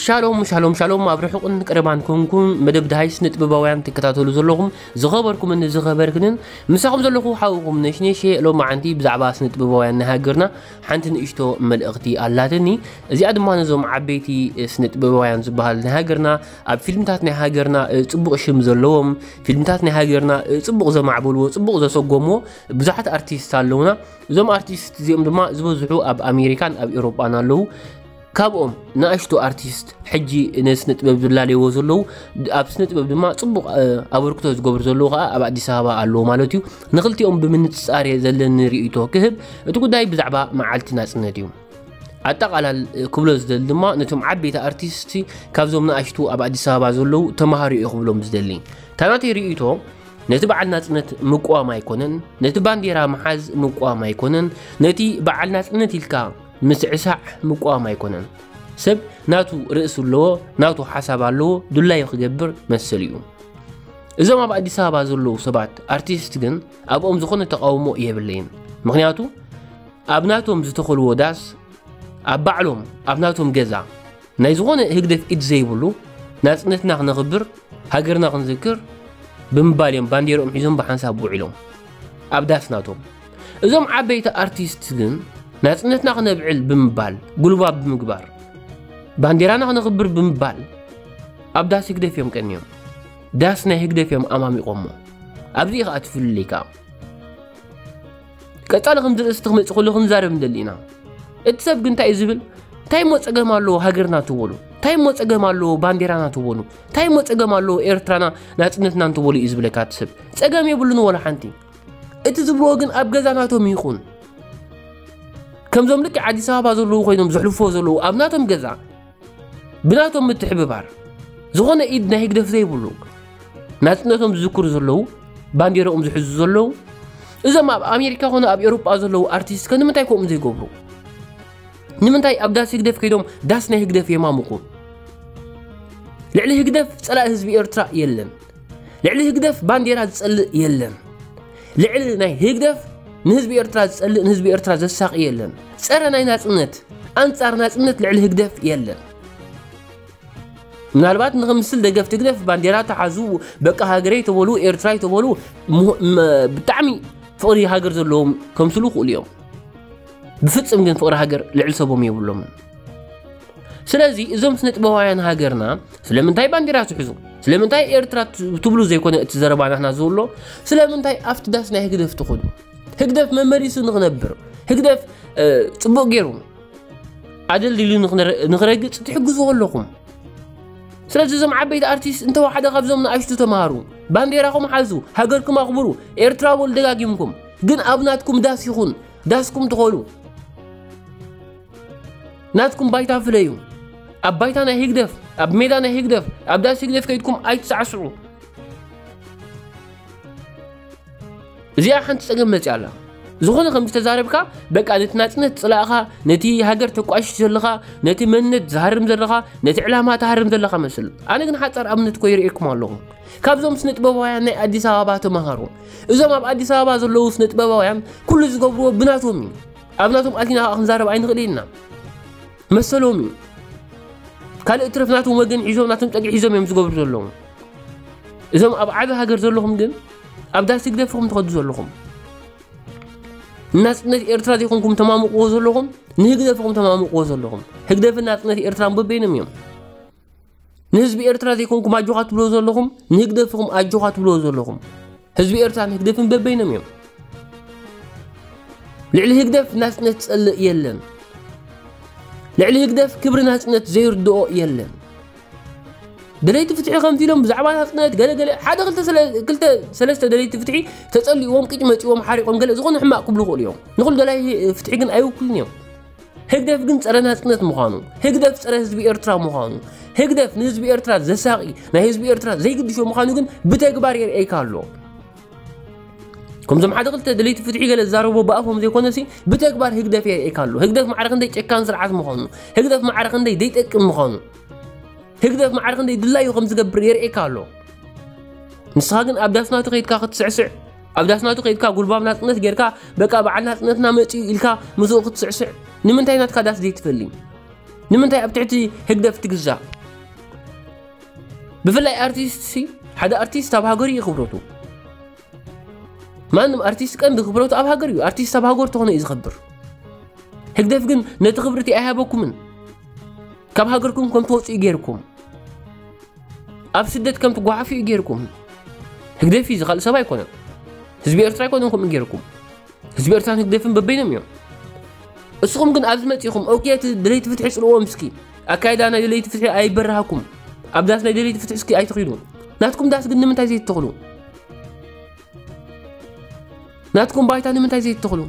ሻሎም ሻሎም ሻሎም፣ ኣብ ርሑቕን ቀረባን ኮንኩም መደብ ደሃይ ስነ ጥበባውያን ትከታተሉ ዘለኹም ዝኸበርኩምን ዝኸበርክንን፣ ምሳኹም ዘለኹ ሓውኹም ነሽነሽ። ሎማዓንቲ ብዛዕባ ስነ ጥበባውያን ናይ ሃገርና ሓንቲ ንእሽቶ መልእኽቲ ኣላትኒ። እዚኣ ድማ ነዞም ዓበይቲ ስነ ጥበባውያን ዝበሃል ናይ ሃገርና፣ ኣብ ፊልምታት ናይ ሃገርና ጽቡቕ ሽም ዘለዎም፣ ፊልምታት ናይ ሃገርና ጽቡቕ ዘማዕበልዎ፣ ጽቡቕ ዘሰጎምዎ ብዙሓት ኣርቲስት ኣለውና። እዞም ኣርቲስት እዚኦም ድማ ዝበዝሑ ኣብ ኣሜሪካን ኣብ ኤውሮጳን ኣለዉ። ካብኦም ንኣሽቱ ኣርቲስት ሕጂ ንስነ ጥበብ ዝላለይዎ ዘለዉ፣ ኣብ ስነ ጥበብ ድማ ጽቡቕ ኣበርክቶ ዝገብሩ ዘለዉ ከዓ ኣብ ኣዲስ ኣበባ ኣለዉ ማለት እዩ። ንክልቲኦም ብምንጽጻር እየ ዘለኒ ርእይቶ ክህብ። እቲ ጉዳይ ብዛዕባ መዓልቲ ናጽነት እዩ። ኣጠቓላል ክብሎ ዝደሊ ድማ ነቶም ዓበይቲ ኣርቲስት ካብዞም ንኣሽቱ ኣብ ኣዲስ ኣበባ ዘለዉ ተማሃሩ እየ ክብሎም ዝደሊ። እታ ናተይ ርእይቶ ነቲ በዓል ናጽነት ምቅዋም ኣይኮነን፣ ነቲ ባንዴራ ምሓዝ ምቅዋም ኣይኮነን፣ ነቲ በዓል ናጽነት ኢልካ ምስዕሳዕ ምቅዋም ኣይኮነን። ሰብ ናቱ ርእሲ ኣለዎ፣ ናቱ ሓሳብ ኣለዎ፣ ድላዩ ክገብር መሰል እዩ። እዞም ኣብ ኣዲስ ኣበባ ዘለዉ ሰባት ኣርቲስት ግን ኣብኦም ዝኾነ ተቃውሞ የብለይን። ምኽንያቱ ኣብ ናቶም ዝተኸልዎ ዳስ ኣብ ባዕሎም ኣብ ናቶም ገዛ ናይ ዝኾነ ህግደፍ ኢድ ዘይብሉ ናጽነትና ክነኽብር ሃገርና ክንዝክር ብምባል እዮም ባንዴርኦም ሒዞም ብሓንሳብ ውዒሎም ኣብ ዳስ ናቶም። እዞም ዓበይቲ ኣርቲስት ግን ናጽነትና ክነብዕል ብምባል ጉልባብ ብምግባር ባንዴራና ክነኽብር ብምባል ኣብ ዳስ ህግደፍ እዮም ቀንዮም። ዳስ ናይ ህግደፍ እዮም ኣማሚቖሞ። ኣብዚ እዩ ከዓ ትፍልልይ ከዓ። ቀጻሊ ከምዚ ርእስቲ ክመጽእ ከሎ ክንዛረብ ንደሊ ኢና። እቲ ሰብ ግን እንታይ እዩ ዝብል? እንታይ እሞ ጸገም ኣለዎ ሃገርና ትበሉ? እንታይ እሞ ጸገም ኣለዎ ባንዴራና ትበሉ? እንታይ እሞ ጸገም ኣለዎ ኤርትራና ናጽነትና እንትበሉ እዩ ዝብለካ እቲ ሰብ። ጸገም የብሉን ወላ ሓንቲ። እቲ ዝብልዎ ግን ኣብ ገዛ ናቶም ይኹን። ከምዞም ልክዕ ኣዲስ ኣበባ ዘለዉ ኮይኖም ዘሕልፍዎ ዘለዉ ኣብ ናቶም ገዛ ብናቶም ምትሕብባር ዝኾነ ኢድ ናይ ህግደፍ ዘይብሉ ናጽነቶም ዝዝክሩ ዘለዉ፣ ባንዴራኦም ዝሕዙ ዘለዉ፣ እዞም ኣብ ኣሜሪካ ኮነ ኣብ ኤውሮጳ ዘለዉ ኣርቲስት ከ ንምንታይ ከምኡ ዘይገብሩ? ንምንታይ ኣብ ዳስ ህግደፍ ከይዶም ዳስ ናይ ህግደፍ የማሙቑ? ልዕሊ ህግደፍ ጸላኢ ህዝቢ ኤርትራ የለን። ልዕሊ ህግደፍ ባንዴራ ዝጸልእ የለን። ልዕሊ ናይ ህግደፍ ንህዝቢ ኤርትራ ዝጸልእ ንህዝቢ ኤርትራ ዘሳቒ የለን። ጸረ ናይ ናጽነት ኣንጻር ናጽነት ልዕሊ ህግደፍ የለን። ምናልባት ንኽምስል ደገፍቲ ህግደፍ ባንዴራ ተሓዙ በቃ ሃገረይ ተበሉ ኤርትራይ ተበሉ ሙ- መ- ብጣዕሚ ፍቕሪ ሃገር ዘለዎም ከምስሉ ይኽእሉ እዮም። ብፍጽም ግን ፍቕሪ ሃገር ልዕሊ ሰቦም የብሎምን። ስለዚ እዞም ስነ ጥበባውያን ሃገርና ስለምንታይ ባንዴራ ትሕዙ? ስለምንታይ ኤርትራ ት- ትብሉ ዘይኮነ እቲ ዘረባ ናትና ዝብሎ፣ ስለምንታይ ኣብቲ ዳስ ናይ ህግደፍ ትኸዱ? ህግደፍ መመሊሱ ንኽነብር፣ ህግደፍ ጽቡቕ ገይሩ ኣደልዲሉ ንኽረግጽ ትሕግዝዎ ኣለኹም። ስለዚ እዞም ዓበይቲ ኣርቲስት እንተወሓደ ካብዞም ንኣሽቱ ተምሃሩ፣ ባንዴራኹም ሓዙ፣ ሃገርኩም ኣኽብሩ፣ ኤርትራ በሉ ደጋጊምኩም። ግን ኣብ ናትኩም ዳስ ይኹን ዳስኩም ትኸሉ ናትኩም ባይታ ፍለዩ። ኣብ ባይታ ናይ ህግደፍ፣ ኣብ ሜዳ ናይ ህግደፍ፣ ኣብ ዳስ ህግደፍ ከይድኩም ኣይትሳዕስዑ። እዚኣ ሓንቲ ጸገም መጽያ ኣላ። ዝኾነ ከም ዝተዛረብካ በቃ ነቲ ናጽነት ጽላእኻ፣ ነቲ ሃገር ተቋሽሽ ዘለኻ፣ ነቲ መንነት ዝሃርም ዘለኻ፣ ነቲ ዕላማ ትሃርም ዘለኻ መስል። ኣነ ግን ሓጻር ኣብነት ኮ ይርእየኩም ኣለኹ። ካብዞም ስነ ጥበባውያን ናይ ኣዲስ ኣበባ ተማሃሩ። እዞም ኣብ ኣዲስ ኣበባ ዘለዉ ስነ ጥበባውያን ኩሉ ዝገብርዎ ብናቶም እዩ። ኣብ ናቶም ኣቲና ከዓ ክንዛረብ ኣይንኽእል ኢና። መሰሎም እዩ። ካልእ ትረፍ ናቶም ወገን ሒዞም ናቶም ጸግዒ ሒዞም እዮም ዝገብሩ ዘለዉ። እዞም ኣብ ዓቢ ሃገር ዘለኹም ግን ኣብ ዳስ ህግደፍኹም ትኸዱ ዘለኹም። ንናጽነት ኤርትራ ዘይኮንኩም ተማምቕዎ ዘለኹም፣ ንህግደፍኹም ተማምቕዎ ዘለኹም። ህግደፍን ናጽነት ኤርትራን በበይኖም እዮም። ንህዝቢ ኤርትራ ዘይኮንኩም ኣጆኻ ትብልዎ ዘለኹም፣ ንህግደፍኹም ኣጆኻ ትብልዎ ዘለኹም። ህዝቢ ኤርትራን ህግደፍን በበይኖም እዮም። ልዕሊ ህግደፍ ናጽነት ዝጸልእ የለን። ልዕሊ ህግደፍ ክብሪ ናጽነት ዘይርድኦ የለን። ደለይቲ ፍትሒ ከምዚ ኢሎም ብዛዕባ ናጽነት ገለ ገለ ሓደ ክልተ ስለ- ክልተ ሰለስተ ደለይቲ ፍትሒ ተጸሊእዎም ቅጭ መጺዎም ሓሪቖም ገለ ዝኾነ ሕማቕ ክብሉ ይኽእሉ እዮም። ንኹሉ ደላይ ፍትሒ ግን ኣይውክሉን እዮም። ህግደፍ ግን ጸረ ናጽነት ምዃኑ፣ ህግደፍ ጸረ ህዝቢ ኤርትራ ምዃኑ፣ ህግደፍ ንህዝቢ ኤርትራ ዘሳቒ፣ ናይ ህዝቢ ኤርትራ ዘይግድሾ ምዃኑ ግን ብተግባር የርእየካ ኣሎ። ከምዞም ሓደ ክልተ ደለይቲ ፍትሒ ገለ ዝዛረቡ ብኣፎም ዘይኮነሲ ብተግባር ህግደፍ የርእየካ ኣሎ። ህግደፍ ማዕረ ክንደይ ጨካን ስርዓት ምዃኑ፣ ህግደፍ ማዕረ ክንደይ ዘይጠቅም ምዃኑ፣ ህግደፍ ማዕረ ክንደይ ድላዩ ከም ዝገብር የርእየካ ኣሎ። ንስኻ ግን ኣብ ዳስ ናቱ ከይድካ ክትስዕስዕ፣ ኣብ ዳስ ናቱ ከይድካ ጉልባብ ናጽነት ጌርካ በቃ በዓል ናጽነትና መጺኡ ኢልካ ምስኡ ክትስዕስዕ ንምንታይ ናትካ ዳስ ዘይትፈሊ? ንምንታይ ኣብ ትሕቲ ህግደፍ ትግዛእ? ብፍላይ ኣርቲስት ሲ ሓደ ኣርቲስት ኣብ ሃገሩ እዩ ክብረቱ። ማንም ኣርቲስት ቀንዲ ክብረቱ ኣብ ሃገር እዩ። ኣርቲስት ኣብ ሃገር ተኾነ እዩ ዝኸብር። ህግደፍ ግን ነቲ ክብርቲ ኣይሃበኩምን። ካብ ሃገርኩም ከም ትወፁ እዩ ገይርኩም። ኣብ ስደት ከም ትጓሓፉ እዩ ገይርኩም። ህግደፍ እዩ፣ ዝኻልእ ሰብ ኣይኮነን። ህዝቢ ኤርትራ ኣይኮነን ከምኡ ገይርኩም። ህዝቢ ኤርትራን ህግደፍን በበይኖም እዮም። እስኹም ግን ኣብዚ መጺኹም ኦኬ እቲ ደለይቲ ፍትሒ ጽልዎም እስኪ። ኣካይዳ ናይ ደለይቲ ፍትሒ ኣይበረሃኩም። ኣብ ዳስ ናይ ደለይቲ ፍትሒ እስኪ ኣይትኺዱ። ናትኩም ዳስ ግን ንምንታይ ዘይትተኽሉ? ናትኩም ባይታ ንምንታይ ዘይትተኽሉ?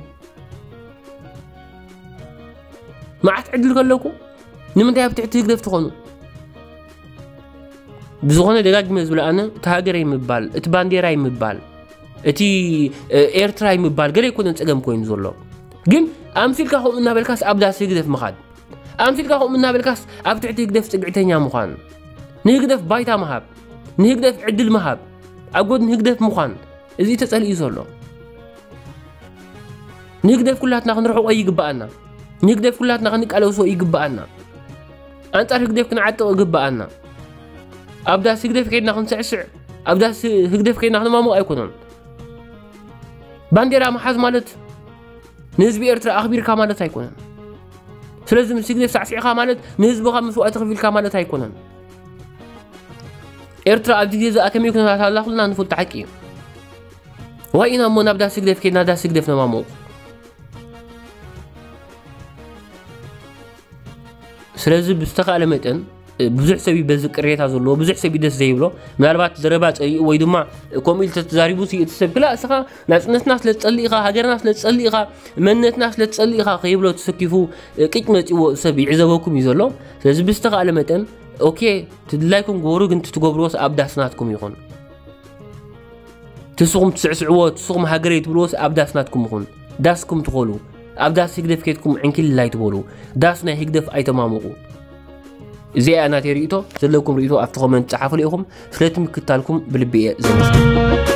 መዓት ዕድል ከለኩም ንምንታይ ኣብ ትሕቲ ህግደፍ ትኾኑ? ብዝኾነ ደጋግመ ዝብለ ኣነ እቲ ሃገረይ ምባል፣ እቲ ባንዴራይ ምባል፣ እቲ ኤርትራይ ምባል ገለ ኣይኮነን ጸገም ኮይኑ ዘሎ። ግን ኣምሲልካ ከምኡ እናበልካስ ኣብ ዳስ ህግደፍ ምኻድ፣ ኣምሲልካ ከምኡ እናበልካስ ኣብ ትሕቲ ህግደፍ ጽግዕተኛ ምዃን፣ ንህግደፍ ባይታ ምሃብ፣ ንህግደፍ ዕድል ምሃብ፣ ኣብ ጎድኒ ህግደፍ ምዃን፣ እዚ ተጸሊኡ ዘሎ። ንህግደፍ ኩላትና ክንርሕቆ ይግብኣና። ንህግደፍ ኩላትና ክንቃለሶ ይግብኣና። ኣንጻር ህግደፍ ክንዓጥቕ ይግብኣና። ኣብ ዳስ ህግደፍ ከይድና ክንስዕስዕ፣ ኣብ ዳስ ህግደፍ ከይድና ክንማሙቕ ኣይኮነን። ባንዴራ ምሓዝ ማለት ንህዝቢ ኤርትራ ኣኽቢርካ ማለት ኣይኮነን። ስለዚ ምስ ህግደፍ ሳዕሲዕካ ማለት ንህዝብኻ መስዋእቲ ከፊልካ ማለት ኣይኮነን። ኤርትራ ኣብዚ ግዜ እዚኣ ከመይ ኩነታት ኣላ ኩልና ንፈልጦ ሓቂ እዩ። ዋይ ኢና እሞ ናብ ዳስ ህግደፍ ከይድና ዳስ ህግደፍ ነማሙቕ። ስለዚ ብዝተኻእለ መጠን ብዙሕ ሰብ እዩ በዚ ቅሬታ ዘለዎ፣ ብዙሕ ሰብ እዩ ደስ ዘይብሎ። ምናልባት ዘረባ ጸሊኡ ወይ ድማ ከምኡ ኢሉ ተተዛሪቡ ሲ እቲ ሰብ ክላ እስኻ ናጽነትና ስለ ትጸልእ ኢኻ፣ ሃገርና ስለ ትጸልእ ኢኻ፣ መንነትና ስለ ትጸልእ ኢኻ ከይብሎ ተሰኪፉ ቅጭ መጺዎ ሰብ ይዕዘበኩም እዩ ዘሎ። ስለዚ ብዝተኻእለ መጠን ኦኬ ትድላይኩም ግበሩ፣ ግን ትትገብርዎስ ኣብ ዳስ ናትኩም ይኹን። ትስኹም ትስዕስዕዎ፣ ትስኹም ሃገረይ ትብልዎስ ኣብ ዳስ ናትኩም ይኹን። ዳስኩም ትኾሉ። ኣብ ዳስ ህግደፍ ኬድኩም ዕንኪልል ኣይትበሉ። ዳስ ናይ ህግደፍ ኣይተማሙቑ። እዚኣ እያ ናተይ ርእይቶ። ዘለኩም ርእይቶ ኣብቲ ኮመንት ጸሓፉሉ ኢኹም። ስለቲ ምክታልኩም ብልቢ እየ ዘመስግን።